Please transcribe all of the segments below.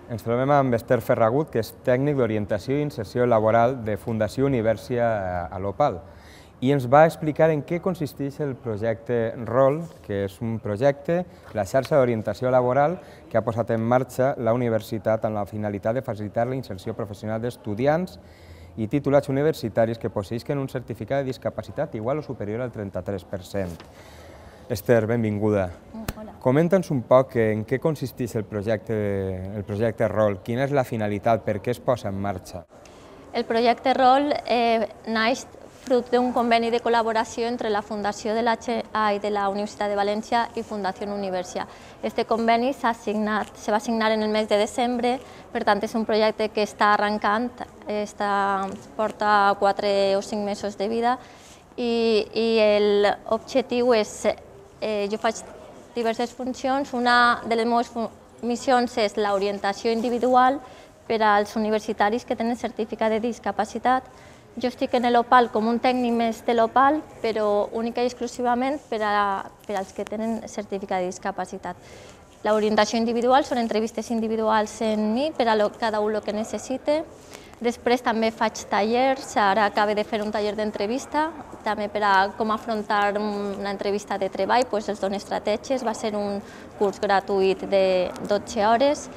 Ens trobem amb Esther Ferragut, que és tècnic d'orientació i inserció laboral de Fundació Universia a l'Opal, i ens va explicar en què consisteix el projecte ROL, que és un projecte, la xarxa d'orientació laboral que ha posat en marxa la universitat amb la finalitat de facilitar la inserció professional d'estudiants i titulats universitaris que posseïsquen un certificat de discapacitat igual o superior al 33%. Esther, benvinguda. Hola. Comenta'ns un poc en què consisteix el projecte ROL, quina és la finalitat, per què es posa en marxa. El projecte ROL naix fruit d'un conveni de col·laboració entre la Fundació de la Universitat de València i Fundació Universia. Este conveni se va signar en el mes de desembre, per tant és un projecte que està arrencant, porta 4 o 5 mesos de vida i l'objectiu és, jo faig diverses funcions, una de les meves missions és l'orientació individual per als universitaris que tenen certificat de discapacitat. Jo estic en l'Opal com un tècnic més de l'Opal, però única i exclusivament per als que tenen certificat de discapacitat. L'orientació individual són entrevistes individuals en mi per a cada un el que necessite. Després també faig tallers, ara acabo de fer un taller d'entrevista, també per a com afrontar una entrevista de treball, els dono estratègies, va ser un curs gratuït de 12 hores.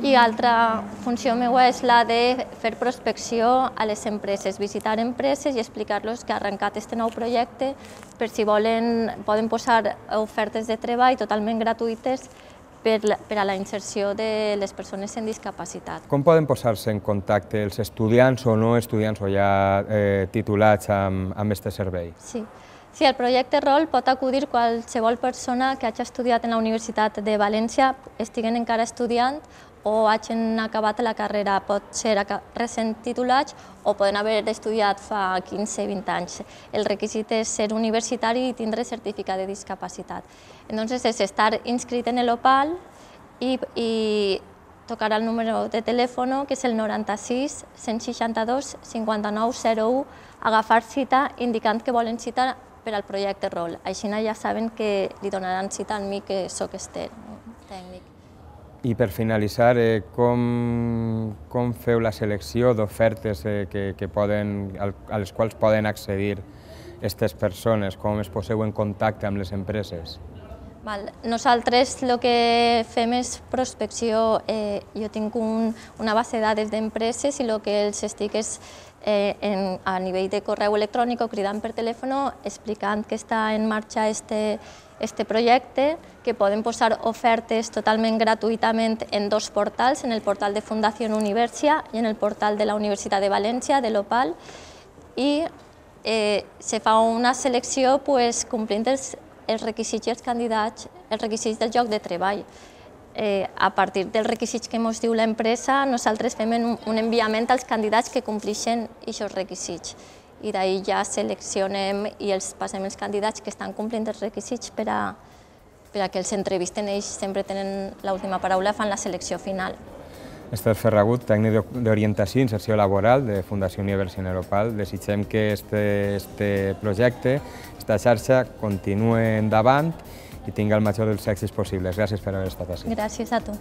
I altra funció meva és la de fer prospecció a les empreses, visitar empreses i explicar-los que ha arrencat aquest nou projecte, per si volen, poden posar ofertes de treball totalment gratuïtes per a la inserció de les persones amb discapacitat. Com poden posar-se en contacte els estudiants o no estudiants o ja titulats amb aquest servei? Sí, al projecte ROL pot acudir qualsevol persona que hagi estudiat en la Universitat de València, estiguen encara estudiant o hagin acabat la carrera, pot ser recent titulats o poden haver estudiat fa 15-20 anys. El requisit és ser universitari i tindre certificat de discapacitat. Entonces és estar inscrit en l'Opal i tocar el número de telèfon, que és el 96 162 59 01, agafar cita indicant que volen cita per al projecte ROL. Així ja saben que li donaran cita a mi, que soc Esther, tècnic. I per finalitzar, com feu la selecció d'ofertes a les quals poden accedir aquestes persones? Com es poseu en contacte amb les empreses? Nosaltres el que fem és prospecció. Jo tinc una base de dades d'empreses i el que els estic és a nivell de correu electrònic o cridant per telèfon explicant que està en marxa este projecte, que poden posar ofertes totalment gratuïtament en 2 portals, en el portal de Fundació Universia i en el portal de la Universitat de València, de l'Opal, i se fa una selecció complint els requisits i els candidats, els requisits del lloc de treball. A partir dels requisits que ens diu l'empresa, nosaltres fem un enviament als candidats que compleixen aquests requisits. I d'ahir ja seleccionem i els passem els candidats que estan complint els requisits per a que els entrevisten. Ells sempre tenen l'última paraula, fan la selecció final. Esther Ferragut, tècnic d'orientació i inserció laboral de Fundació Universia a l'Opal. Desitgem que aquest projecte, aquesta xarxa, continuï endavant i tingui el major dels èxits possibles. Gràcies per haver estat ací. Gràcies a tu.